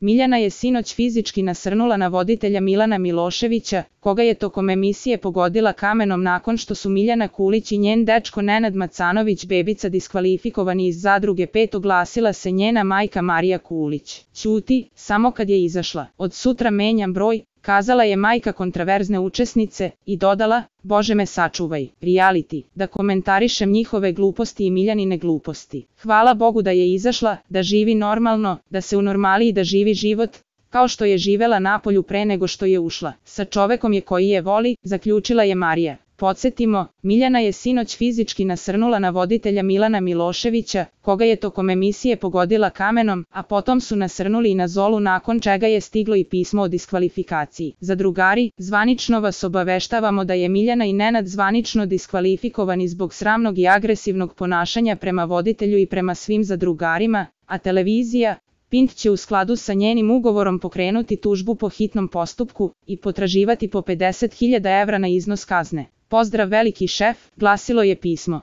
Miljana je sinoć fizički nasrnula na voditelja Milana Miloševića, koga je tokom emisije pogodila kamenom nakon što su Miljana Kulić i njen dečko Nenad Macanović Bebica diskvalifikovani iz Zadruge 5, oglasila se njena majka Marija Kulić. Ćuti, samo kad je izašla. Od sutra menjam broj, kazala je majka kontraverzne učesnice i dodala, Bože me sačuvaj, reality, da komentarišem njihove gluposti i Miljanine gluposti. Hvala Bogu da je izašla, da živi normalno, da se unormali i da živi život, kao što je živela napolju pre nego što je ušla. Sa čovekom je koji je voli, zaključila je Marija. Podsjetimo, Miljana je sinoć fizički nasrnula na voditelja Milana Miloševića, koga je tokom emisije pogodila kamenom, a potom su nasrnuli i na Zolu nakon čega je stiglo i pismo o diskvalifikaciji. Zadrugari, zvanično vas obaveštavamo da je Miljana i Nenad zvanično diskvalifikovani zbog sramnog i agresivnog ponašanja prema voditelju i prema svim zadrugarima, a televizija Pink će u skladu sa njenim ugovorom pokrenuti tužbu po hitnom postupku i potraživati po 50.000 evra na iznos kazne. Pozdrav veliki šef, glasilo je pismo.